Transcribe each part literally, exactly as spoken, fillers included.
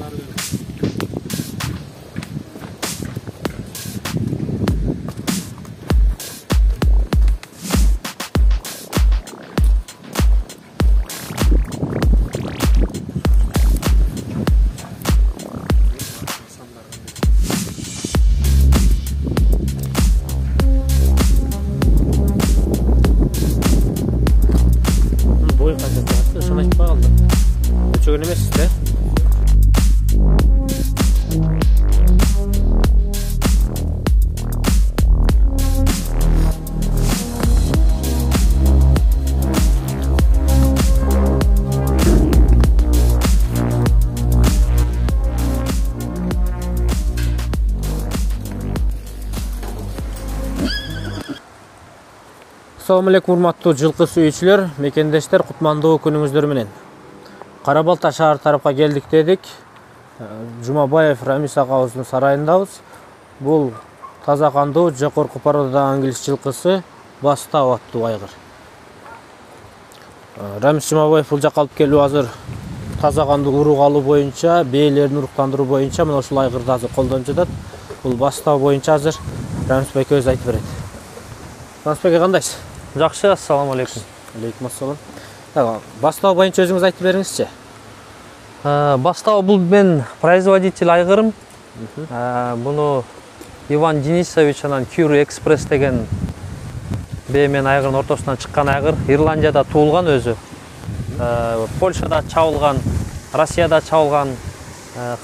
Çögün emesiz de. Assalamu alейкум, урматтуу жылкы сүйүүчүлөр, мекендештер, кутмандуу күнүңүздөр менен. Кара Балта шаар тарапка келдик дедик. Жумабаев Рамис агабыздын сарайындабыз. Бул таза кандуу жогорку порода англис жылкысы Бастау аттуу айгыр. Рамис Жумабаев бул жакка алып келип азыр таза кандуу урук алуу боюнча, бээлерин уруктандыруу боюнча мына ушул айгырды азыр колдонуп жатат. Бул Бастау боюнча азыр Рамис байкебиз айтып берет. Рамис байке, кандайсыз? Жакшы, ассаламу алейкум. Алейкум ассалам. Бастау боюнча өзүңүз айтып бериңизчи. Бастау бул мен производитель айгырым. Буну Иван Денисович анан Кюри Экспресс деген бээ мен айгырдын ортосунан чыккан айгыр. Ирландияда туулган өзү. Польшада чабылган, Россияда чабылган,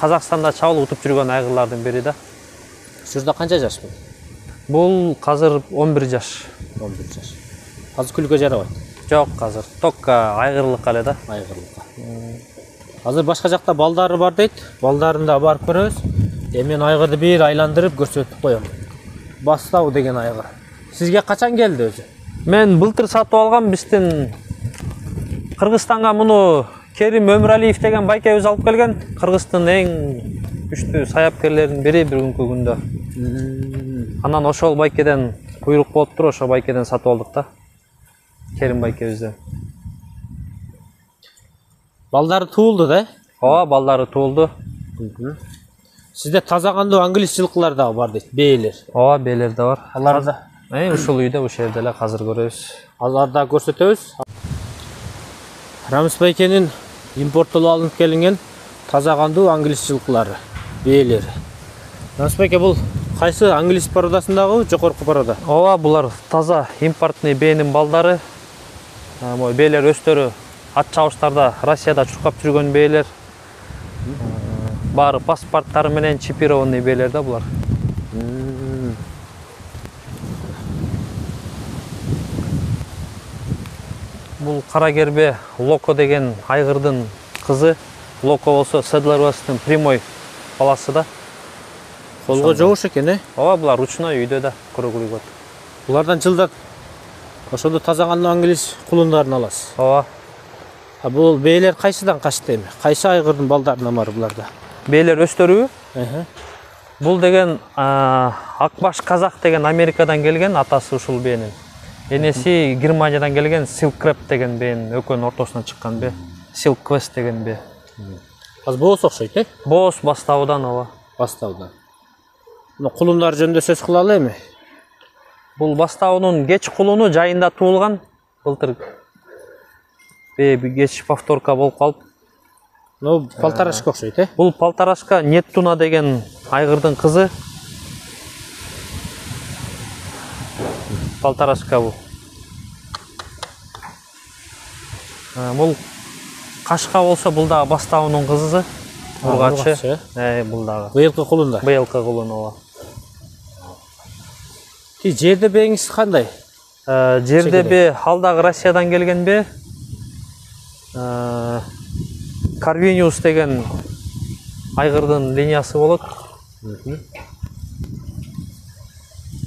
Казакстанда чабылып утуп жүргөн айгырлардын бири да. Ушурда канча жаш бул? Бул азыр он бир жаш. он бир жаш. Азыр күлгө жарабайт. Жок, азыр токка айгырлыкка эле да. Айгырлыкка. Азыр башка жакта балдары бар дейт. Балдарын да барып көрөбүз. Эми мен айгырды бир айландырып көрсөтүп коем. Бастау деген айгыр. Сизге качан келди өзү? Мен былтыр сатып алгам, биздин Кыргызстанга муну Керим Өмүралиев деген байкебиз алып келген. Кыргыздын эң күчтүү саяпкерлеринин бири бир күнкү күндө. Анан ошол байкеден буйрук болуп туруп, ошол байкеден сатып алдык да. Керим байкебизден. Балдары туулду да? Ооба, балдары туулду. Сизде таза кандуу англис жылкылар дагы бар дейт, бээлер. Ооба, бээлер да бар. Алар да Э, ушул үйдө, ушул жерде эле азыр көрөбүз. Аларды да көрсөтөбүз. Рамис байкенин импорттолуп алынып келинген таза кандуу англис жылкылары, бээлер. Рамис байке, бул кайсы англис породасындагы жогорку порода? Ооба, булар таза импортный бээнин балдары. Могу бээлер өстөрү ат чабыштарда Россияда чуркап жүргөн бээлер. Баары паспорттары менен чипированный бээлер да булар. Бул кара гербе Локо деген айгырдын кызы. Локо болсо Седлервестин прямой баласы да. Колго жобуш экен, э? Ооба, булар ручной үйдө да көрөгүлүгөт. Булардан жылда ошондо таза кандуу англис кулундарын аласыз. Ооба. А бул бээлер кайсыдан качты эми? Кайсы айгырдын балдарынан бар буларда? Бээлер өстөрүбү? Аха. Бул деген Акбаш казак деген Америкадан келген, атасы ушул бээнин. Энеси Германиядан келген Silk Crab деген бээнин экөөнүн ортосунан чыккан бээ. Silk Quest деген бээ. Азыр боос окшойт, э? Боос Бастаудан, ооба. Бастаудан. Мына кулундар жөнүндө сөз кылалы эми. Бул Бастаунун кеч кулуну жайында туулган. Былтыр бээ кеч повторка болуп калып. Ну, полторашка окшойт, э? Бул полторашка Неттуна деген айгырдын кызы. Полторашка бул. Бул кашка болсо бул дагы Бастаунун кызы. Ургачы. Э, бул дагы. Быйылкы кулунда. Быйылкы кулун, ооба. Ки жерде бээңиз кандай? Жерде бээ ал дагы Россиядан келген бээ. Карвиниус деген айгырдын линиясы болот.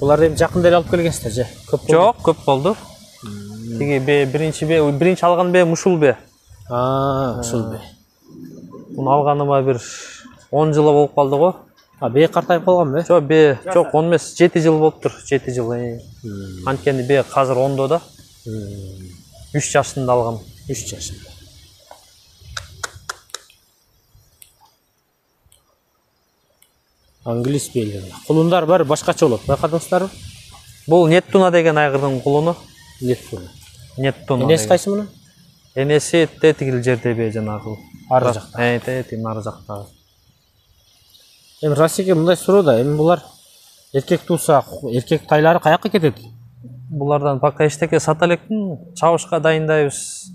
Булар эми жакында эле алып келгенсиздер же? Көп болду? Жок, көп болду. Тиги бээ биринчи бээ, биринчи алган бээ ушул бээ. А, ушул бээ. Муну алганыма бир он жылы болуп калды го. А бээ картайып калганбы? Жок, бээ, жок, он эмес, жети жыл болуптур, жети жыл. Анткени бээ азыр ондо да. үч жашында алгам. үч жашында. Англис бейлер. Кулундар бар, башкача болот. Байкадыңыздарбы? Бул Неттуна деген айгырдын кулуну. Неттуна. Неттуна. Энеси кайсы мунун? Энеси тетигил жердеби жанагы. Ары жакта. Э, тетигил ары жакта. Эми Расике мындай суроо да, эми булар эркек тууса, эркек тайлары каяка кетет? Булардан пока эчтеке сата элекмин, чабышка дайындайбыз.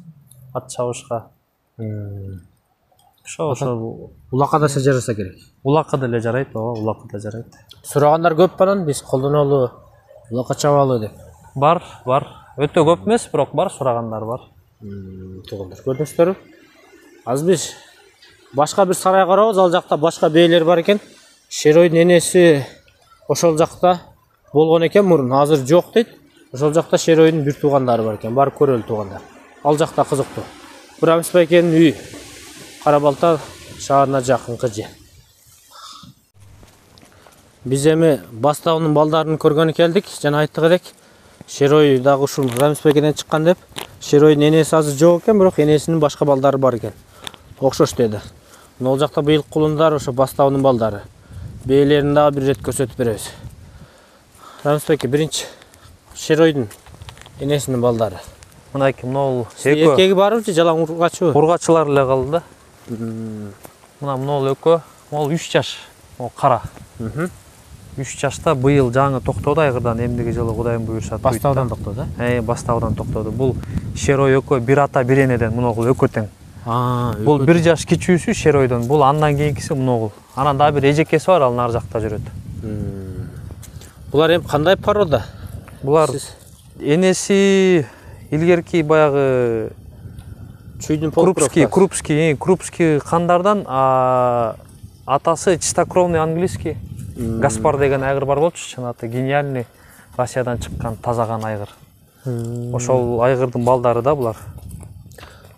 Ат чабышка. Ошо ошо Улакка да жараса керек. улакка деле жарайт, ооба, улакка да жарайт. Сурагандар көп банан биз колдонолу, улакка чабалы деп. Бар, бар. Өтө көп эмес, бирок бар, сурагандар бар. Туугандар көрдүңүздөрбү? Азыр биз башка бир сарай карабыз, ал жакта башка бейлер бар экен. Шеройдун энеси ошол жакта болгон экен мурун, азыр жок дейт. Ошол жакта Шеройдун бир туугандары бар экен, барып көрөлү туугандар. Ал жакта кызыктуу. Бурамис байкенин үйү Кара Балта шаарына жакынкы жер. Биз эми Бастаунун балдарын көргөнү келдик. Жана айттык элек, Шерой дагы ушул Рамис байкеден чыккан деп. Шеройдун энеси азыр жок экен, бирок энесинин башка балдары бар экен. Окшош деди. Мына жакта быйыл кулундар ошо Бастаунун балдары. Бейлерин дагы бир рет көрсөтүп беребиз. Рамис байке, биринчи Шеройдун энесинин балдары. Мынакей мынау экөө. Эркеги барбы же жалаң ургачыбы? Ургачылар эле калды да. Мына мынау экөө, могул үч жаш, могул кара. үч жашта быйыл жаңы токтоду айгырдан, эмдиги жылы Кудайым буйруса туйт. Бастаудан токтоду, э? Э, Бастаудан токтоду. Бул Шерой экөө бир ата бир энеден, муногул экөө тең. А, бул бир жаш кичүүсү Шеройдон, бул андан кийинкиси муногул. Анан дагы бир эжекеси бар, ал нар жакта жүрөт. Булар эми кандай порода? Булар энеси илгерки баягы чүйдүн крупский, крупский, крупский кандардан, атасы чистокровный английский. Гаспар деген айгыр бар болчу, чынаты гениальный, Россиядан чыккан тазаган айгыр. Ошол айгырдын балдары да булар.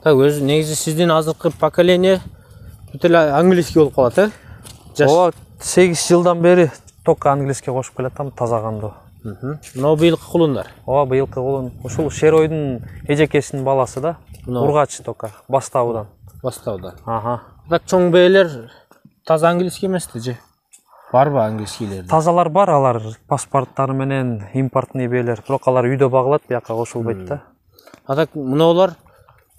Так, өзү негизи сиздин азыркы поколение бүт эле английский болуп калат, э? Ооба, сегиз жылдан бери только английский кошуп келатам, тазагандуу. Мына быйылкы кулундар. Ооба, быйылкы кулун. Ушул Шеройдун эжекесинин баласы да. Ургач только, Бастаудан. Бастаудан. Ага. Так чоң бейлер таза английский эмеспи же? Барбы английскийлер? Тазалар бар, алар паспорттары менен импортный бейлер. Бирок алар үйдө багылат, бияка кошулбайт да. А так мыналар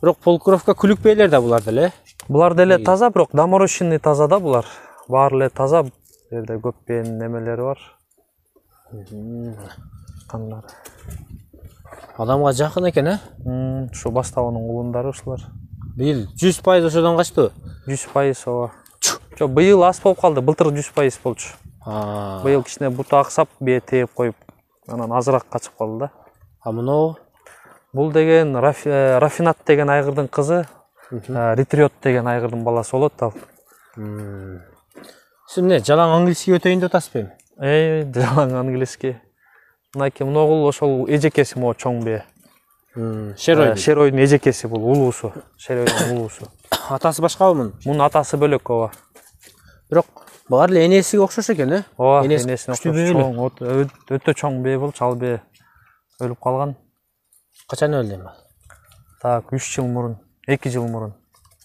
бирок полукровка күлүк бейлер да булар деле. Булар деле таза, бирок доморощенный таза да булар. Баары эле таза. Бу жерде көп бейин немелери бар. Кандар. Адамга жакын экен, э? Ушу Бастаунун кулундары ушулар. Быйыл жүз пайыз ошодон качты. жүз пайыз ооба. Жок, быйыл аз болуп калды, былтыр жүз пайыз болчу. Быйыл кичине буту аксап, бээ тээп коюп, анан азыраак качып калды да. А мынау? Бул деген Рафинат деген айгырдын кызы, Ретриот деген айгырдын баласы болот ал. Сиз эмне, жалаң английский өтөйүн деп атасызбы эми? Э, жалаң английский. Мынакей мыногул ошол эжекеси могу чоң бээ. Шерой. Шеройдун эжекеси бул, улуусу. Шеройдун улуусу. Атасы башкабы мунун? Мунун атасы бөлөк ооба. Бирок баары эле энесиге окшош экен, э? Ооба, энесине окшош. Чоң, өтө чоң бээ болчу, ал бээ өлүп калган. Качан өлдү эми? Так, үч жыл мурун, эки жыл мурун.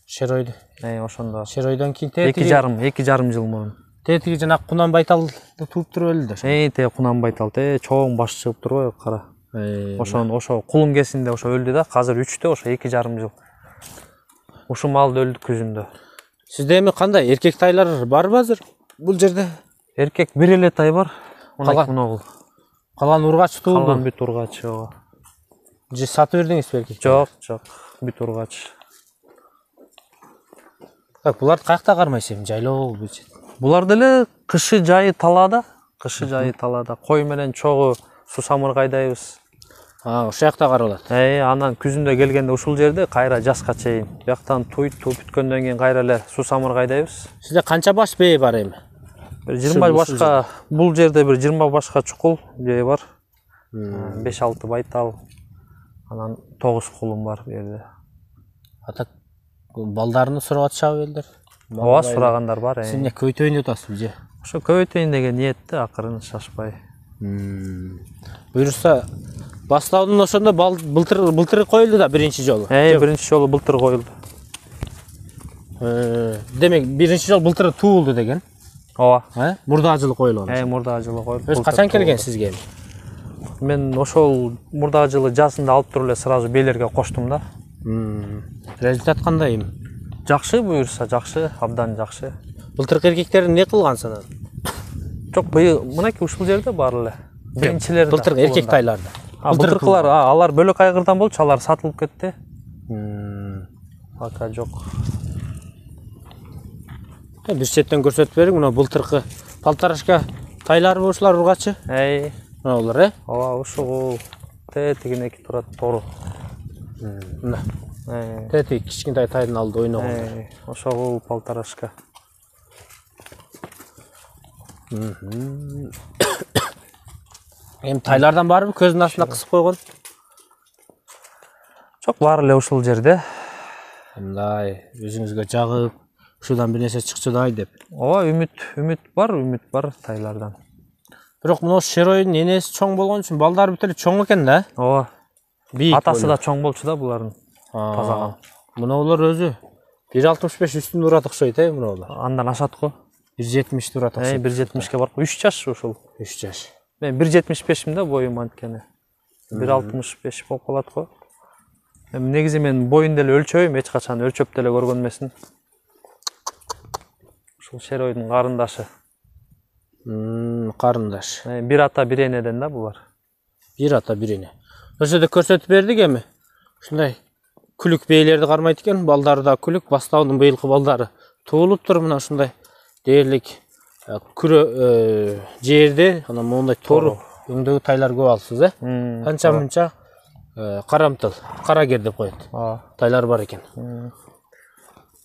Шеройду. Э, ошондо. Шеройдон кийин тетиги эки жарым, эки жарым жыл мурун. Тетиги жана Кунан Байталды тууп туруп өлдү. Э, те Кунан Байтал, те чоң баш чыгып турбайбы, кара. Ошон ошо кулун кезинде ошо өлдү да, азыр үчтө, ошо эки жарым жыл. Ушул малды өлдү күзүндө. Сизде эми кандай эркек тайлар барбы азыр бул жерде? Эркек бир эле тай бар. Мынагул. Калган ургач туулду. Калган бүт ургач, ооба. Же сатып бердиңизби эркек? Жок, жок, бүт ургач. Так, буларды каякта кармайсыз эми, жайлоо бул? Булар деле кышы жайы талаада, кышы жайы талаада. Кой менен чогуу сусамыр кайдайбыз. А, ошол жакта каралат. Э, анан күзүндө келгенде ушул жерде кайра жазга чейин. Бияктан туйт, туп бүткөндөн кийин кайра эле сусамыр кайдайбыз. Сизде канча баш бээ бар эми? Бир жыйырма башка, бул жерде бир жыйырма башка чукул бээ бар. беш алты байтал. Анан тогуз кулум бар бу жерде. А так балдарını сурап атышабы элдер? Ооба, сурагандар бар. Сиз эмне көбөйтөйүн деп атасызбы же? Ошо көбөйтөйүн деген ниетте, акырын шашпай. Буюрса Бастаудун ошондо былтыр былтыр коюлду да биринчи жолу. Э, биринчи жолу былтыр коюлду. Э, демек биринчи жол былтыр туулду деген. Ооба. Э? Мурда жылы коюлган. Э, мурда жылы коюлуп. Өз качан келген сизге? Мен ошол мурда жылы жазында алып туруп эле сразу бейлерге коштум да. Результат кандай? Жакшы буюрса, жакшы, абдан жакшы. Былтыркы эркектер эмне кылгансың анан? Жок, быйыл мынакей ушул жерде бар эле. Биринчилер. Былтыркы эркек тайларда. Былтыркылар, алар бөлөк айгырдан болчу, алар сатылып кетти. Пока жок. Бир четтен көрсөтүп бериң, мына былтыркы полторашка тайлары ушулар ургачы. Эй, мына булар, э? ооба, ушул тетигинеки турат тору. Мына. Эй, Тетик кичкентай тайдын алды ойногон. эй, ошол полторашка. Эми тайлардан барбы көздүн астына кысып койгон? Жок, бар эле ушул жерде. Мындай өзүңүзгө жагып, ушудан бир нерсе чыкчыдай деп. Ооба, үмүт, үмүт бар, үмүт бар тайлардан. Бирок мына Шеройдун энеси чоң болгон үчүн балдары бүт эле чоң экен да. Ооба. Бийик. Атасы да чоң болчу да булардын. Тазаган. Мына булар өзү бир алтымыш беш үстүндө урат окшойт, э, мына булар. Андан ашат го. бир жетимиште урат Эй, окшойт. бир жетимишке бар го. үч жаш ушул. үч жаш. Мен бир жетимиш бешмин да боюм анткени. бир алтымыш беш болуп калат го. Эми негизи мен боюн деле өлчөбөйм, эч качан өлчөп деле көргөн эмесмин. Ушул Шеройдун карындашы. Карындаш. Бир ата бир энеден да булар. Бир ата бир эне. Ошол жерде көрсөтүп бердик эми. Ушундай күлүк бейлерди кармайт экен, балдары да күлүк, бастаудун быйылкы балдары туулуптур мына ушундай дээрлик күрө жерде, анан моундай тору өңдөгү тайлар көп алсыз, э? Канча мынча карамтыл, карагер деп коет. Тайлар бар экен.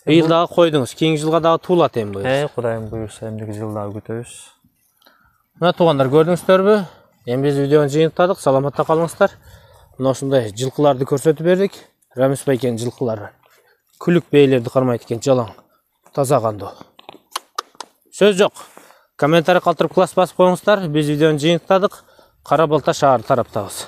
Быйыл дагы койдуңуз, кийинки жылга дагы туулат эми быйыл. Э, Кудайым буюрса, эмдиги жылы дагы күтөбүз. Мына туугандар, көрдүңүздөрбү? Эми биз видеону жыйынтыктадык, саламатта калыңыздар. Мына ушундай жылкыларды көрсөтүп бердик. Рамис байкенин жылкылары. Күлүк бейлерди кармайт экен, жалаң, таза кандуу. Сөз жок. Комментарий калтырып класс басып коюңуздар. Биз видеону жыйынтыктадык. Кара Балта шаары тараптабыз.